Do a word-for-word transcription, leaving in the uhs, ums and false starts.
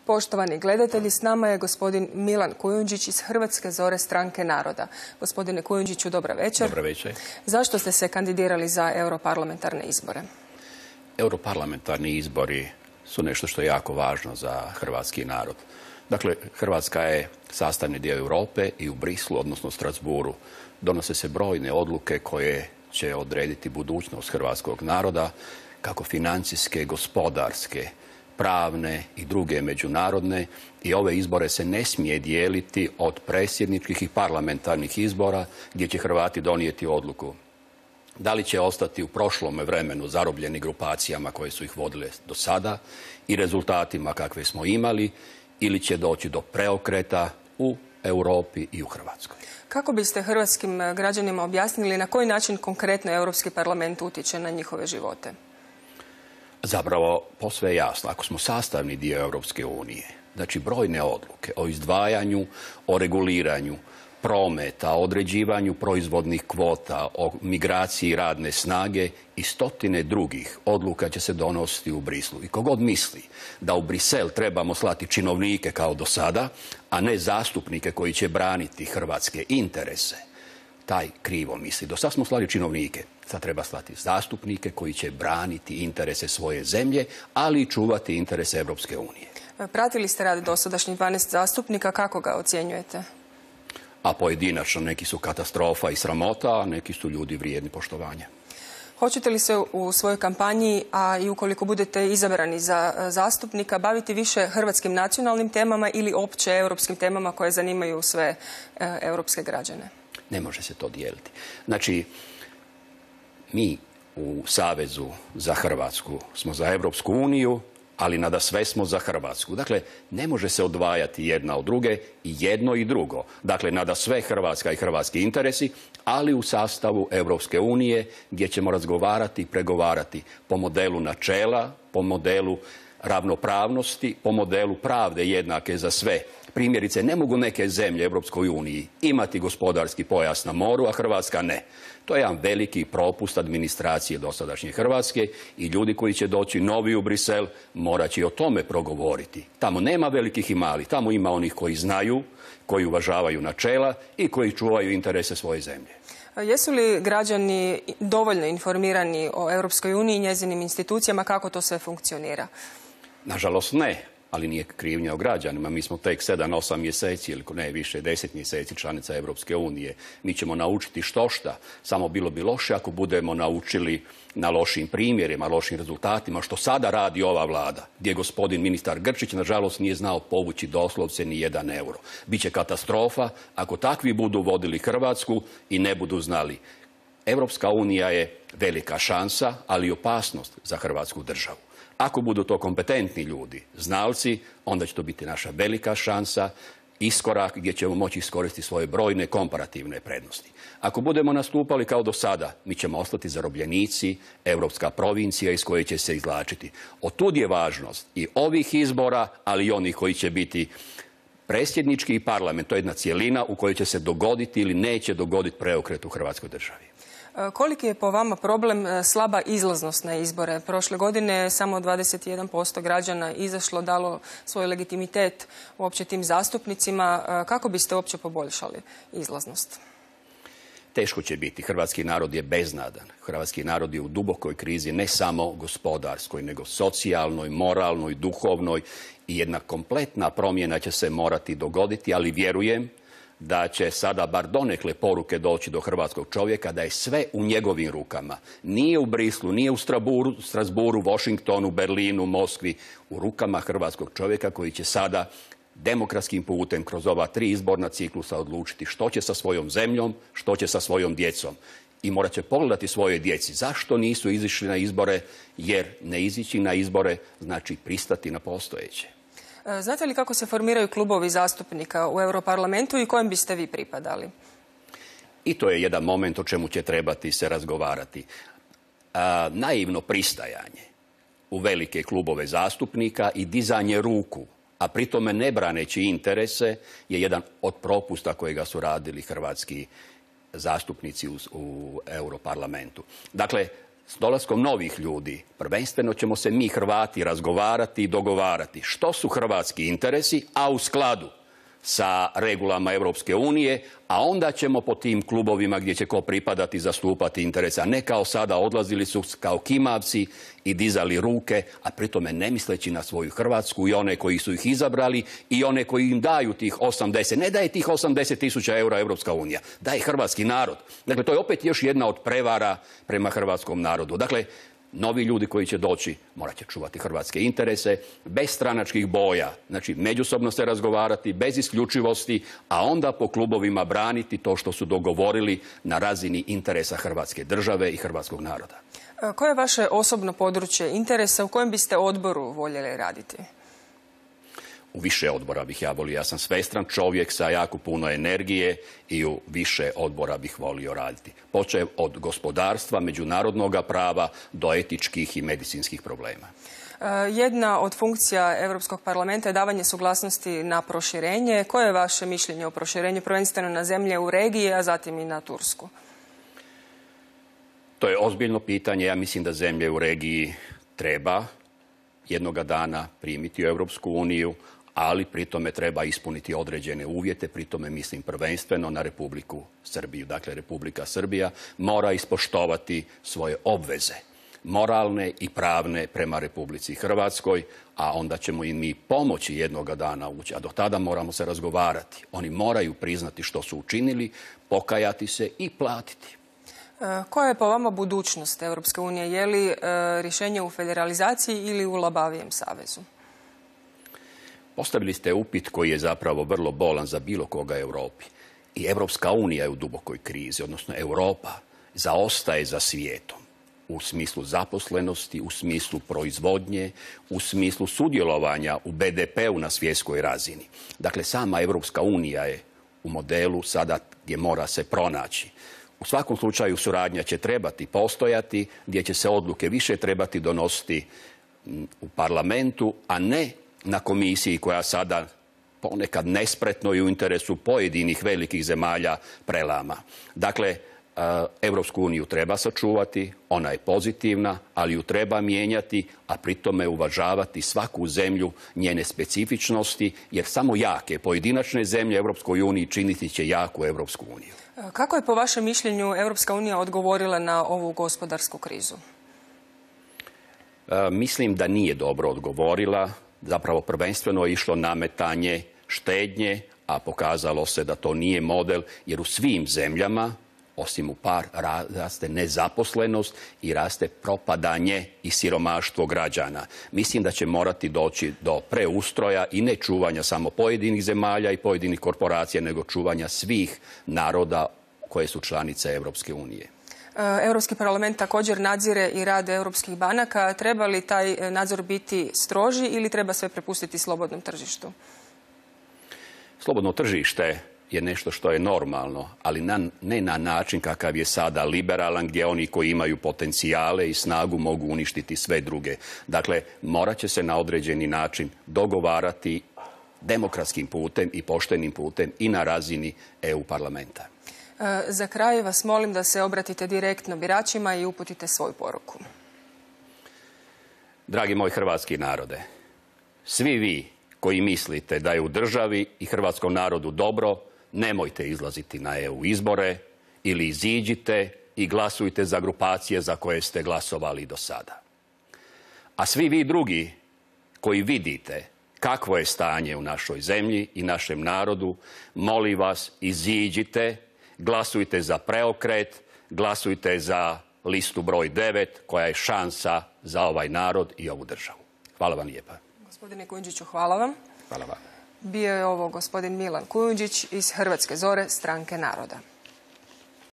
Poštovani gledatelji, s nama je gospodin Milan Kujundžić iz Hrvatske zore stranke naroda. Gospodine Kujundžiću, dobra večer. Dobra večer. Zašto ste se kandidirali za europarlamentarne izbore? Europarlamentarni izbori su nešto što je jako važno za hrvatski narod. Dakle, Hrvatska je sastavni dio Europe i u Brislu, odnosno Strasbourgu, donose se brojne odluke koje će odrediti budućnost hrvatskog naroda, kako financijske, gospodarske, pravne i druge međunarodne, i ove izbore se ne smije dijeliti od predsjedničkih i parlamentarnih izbora gdje će Hrvati donijeti odluku da li će ostati u prošlom vremenu zarobljeni grupacijama koje su ih vodile do sada i rezultatima kakve smo imali, ili će doći do preokreta u Europi i u Hrvatskoj. Kako biste hrvatskim građanima objasnili na koji način konkretno Europski parlament utječe na njihove živote? Zapravo, posve je jasno, ako smo sastavni dio Europske unije, znači brojne odluke o izdvajanju, o reguliranju prometa, o određivanju proizvodnih kvota, o migraciji radne snage i stotine drugih odluka će se donositi u Brislu. I kogod misli da u Brisel trebamo slati činovnike kao do sada, a ne zastupnike koji će braniti hrvatske interese, taj krivo misli. Do sad smo slali činovnike, sad treba slati zastupnike koji će braniti interese svoje zemlje, ali i čuvati interese Europske unije. Pratili ste rad dosadašnjih dvanaest zastupnika, kako ga ocjenjujete? A pojedinačno neki su katastrofa i sramota, a neki su ljudi vrijedni poštovanja. Hoćete li se u svojoj kampanji, a i ukoliko budete izabrani za zastupnika, baviti više hrvatskim nacionalnim temama ili opće europskim temama koje zanimaju sve europske građane? Ne može se to dijeliti. Znači, mi u Savezu za Hrvatsku smo za Europsku uniju, ali nadasve smo za Hrvatsku. Dakle, ne može se odvajati jedna od druge, i jedno i drugo. Dakle, nadasve Hrvatska i hrvatski interesi, ali u sastavu Europske unije gdje ćemo razgovarati i pregovarati po modelu načela, po modelu ravnopravnosti, po modelu pravde jednake za sve. Primjerice, ne mogu neke zemlje Europskoj uniji imati gospodarski pojas na moru, a Hrvatska ne. To je jedan veliki propust administracije dosadašnje Hrvatske i ljudi koji će doći novi u Brisel morat će o tome progovoriti. Tamo nema velikih i malih, tamo ima onih koji znaju, koji uvažavaju načela i koji čuvaju interese svoje zemlje. Jesu li građani dovoljno informirani o Europskoj uniji i njezinim institucijama, kako to sve funkcionira? Nažalost ne, ali nije krivnja o građanima. Mi smo tek sedam, osam mjeseci ili ne više, deset mjeseci članica Europske unije. Mi ćemo naučiti štošta, samo bilo bi loše ako budemo naučili na lošim primjerima, lošim rezultatima, što sada radi ova vlada, gdje gospodin ministar Grčić nažalost nije znao povući doslovce ni jedan euro. Biće katastrofa ako takvi budu vodili Hrvatsku i ne budu znali. Europska unija je velika šansa, ali i opasnost za Hrvatsku državu. Ako budu to kompetentni ljudi, znalci, onda će to biti naša velika šansa, iskorak gdje ćemo moći iskoristiti svoje brojne komparativne prednosti. Ako budemo nastupali kao do sada, mi ćemo ostati zarobljenici, europska provincija iz koje će se izvlačiti. Otud je važnost i ovih izbora, ali i onih koji će biti predsjednički i parlament. To je jedna cjelina u kojoj će se dogoditi ili neće dogoditi preokret u Hrvatskoj državi. Koliki je po vama problem slaba izlaznost na izbore? Prošle godine samo dvadeset jedan posto građana izašlo, dalo svoj legitimitet uopće tim zastupnicima. Kako biste uopće poboljšali izlaznost? Teško će biti. Hrvatski narod je beznadan. Hrvatski narod je u dubokoj krizi, ne samo gospodarskoj, nego socijalnoj, moralnoj, duhovnoj, i jedna kompletna promjena će se morati dogoditi, ali vjerujem da će sada bar donekle poruke doći do hrvatskog čovjeka, da je sve u njegovim rukama. Nije u Brislu, nije u Strasbourgu, Washingtonu, Berlinu, Moskvi, u rukama hrvatskog čovjeka koji će sada demokratskim putem kroz ova tri izborna ciklusa odlučiti što će sa svojom zemljom, što će sa svojom djecom. I morat će pogledati svojoj djeci zašto nisu izišli na izbore, jer ne izići na izbore znači pristati na postojeće. Znate li kako se formiraju klubovi zastupnika u Europarlamentu i kojem biste vi pripadali? I to je jedan moment o čemu će trebati se razgovarati. A, naivno pristajanje u velike klubove zastupnika i dizanje ruku, a pritome ne braneći interese, je jedan od propusta kojega su radili hrvatski zastupnici u, u Europarlamentu. Dakle, s dolaskom novih ljudi, prvenstveno ćemo se mi Hrvati razgovarati i dogovarati što su hrvatski interesi, a u skladu sa regulama Europske unije, a onda ćemo po tim klubovima gdje će ko pripadati zastupati interese, a ne kao sada odlazili su kao kimavci i dizali ruke, a pritome ne misleći na svoju Hrvatsku i one koji su ih izabrali i one koji im daju tih osamdeset. Ne daje tih osamdeset tisuća eura Europska unija, daje hrvatski narod. Dakle, to je opet još jedna od prevara prema hrvatskom narodu. Dakle, novi ljudi koji će doći morat će čuvati hrvatske interese, bez stranačkih boja, znači međusobno se razgovarati, bez isključivosti, a onda po klubovima braniti to što su dogovorili na razini interesa Hrvatske države i hrvatskog naroda. Koje je vaše osobno područje interesa, u kojem biste odboru voljeli raditi? U više odbora bih ja volio. Ja sam svestran čovjek sa jako puno energije i u više odbora bih volio raditi. Počev od gospodarstva, međunarodnog prava do etičkih i medicinskih problema. Jedna od funkcija Europskog parlamenta je davanje suglasnosti na proširenje. Koje je vaše mišljenje o proširenju, prvenstveno na zemlje u regiji, a zatim i na Tursku? To je ozbiljno pitanje. Ja mislim da zemlje u regiji treba jednoga dana primiti u Europsku uniju, ali pri tome treba ispuniti određene uvjete, pri tome mislim prvenstveno na Republiku Srbiju. Dakle, Republika Srbija mora ispoštovati svoje obveze, moralne i pravne prema Republici Hrvatskoj, a onda ćemo im mi pomoći jednoga dana ući. A do tada moramo se razgovarati. Oni moraju priznati što su učinili, pokajati se i platiti. Koja je po vama budućnost Europske unije? Je li e, rješenje u federalizaciji ili u labavijem savezu? Postavili ste upit koji je zapravo vrlo bolan za bilo koga u Europi. I Europska unija je u dubokoj krizi, odnosno Europa zaostaje za svijetom u smislu zaposlenosti, u smislu proizvodnje, u smislu sudjelovanja u be de peu na svjetskoj razini. Dakle, sama Europska unija je u modelu sada gdje mora se pronaći. U svakom slučaju suradnja će trebati postojati, gdje će se odluke više trebati donositi u parlamentu, a ne na komisiji koja sada ponekad nespretno i u interesu pojedinih velikih zemalja prelama. Dakle, Europsku uniju treba sačuvati, ona je pozitivna, ali ju treba mijenjati, a pri tome uvažavati svaku zemlju, njene specifičnosti, jer samo jake pojedinačne zemlje Europskoj uniji činiti će jaku Europsku uniju. Kako je po vašem mišljenju Europska unija odgovorila na ovu gospodarsku krizu? E, mislim da nije dobro odgovorila. Zapravo prvenstveno je išlo nametanje štednje, a pokazalo se da to nije model, jer u svim zemljama, osim u par, raste nezaposlenost i raste propadanje i siromaštvo građana. Mislim da će morati doći do preustroja i ne čuvanja samo pojedinih zemalja i pojedinih korporacija, nego čuvanja svih naroda koje su članice Europske unije. Europski parlament također nadzire i rad europskih banaka. Treba li taj nadzor biti stroži ili treba sve prepustiti slobodnom tržištu? Slobodno tržište je nešto što je normalno, ali na, ne na način kakav je sada liberalan, gdje oni koji imaju potencijale i snagu mogu uništiti sve druge. Dakle, morat će se na određeni način dogovarati demokratskim putem i poštenim putem i na razini E U parlamenta. E, za kraj vas molim da se obratite direktno biračima i uputite svoju poruku. Dragi moj hrvatski narode, svi vi koji mislite da je u državi i hrvatskom narodu dobro, nemojte izlaziti na E U izbore ili iziđite i glasujte za grupacije za koje ste glasovali do sada. A svi vi drugi koji vidite kakvo je stanje u našoj zemlji i našem narodu, molim vas, iziđite, glasujte za preokret, glasujte za listu broj devet koja je šansa za ovaj narod i ovu državu. Hvala vam lijepa. Gospodine Kujundžiću, hvala vam. Hvala vam. Bio je ovo gospodin Milan Kujundžić iz Hrvatske zore, Stranke naroda.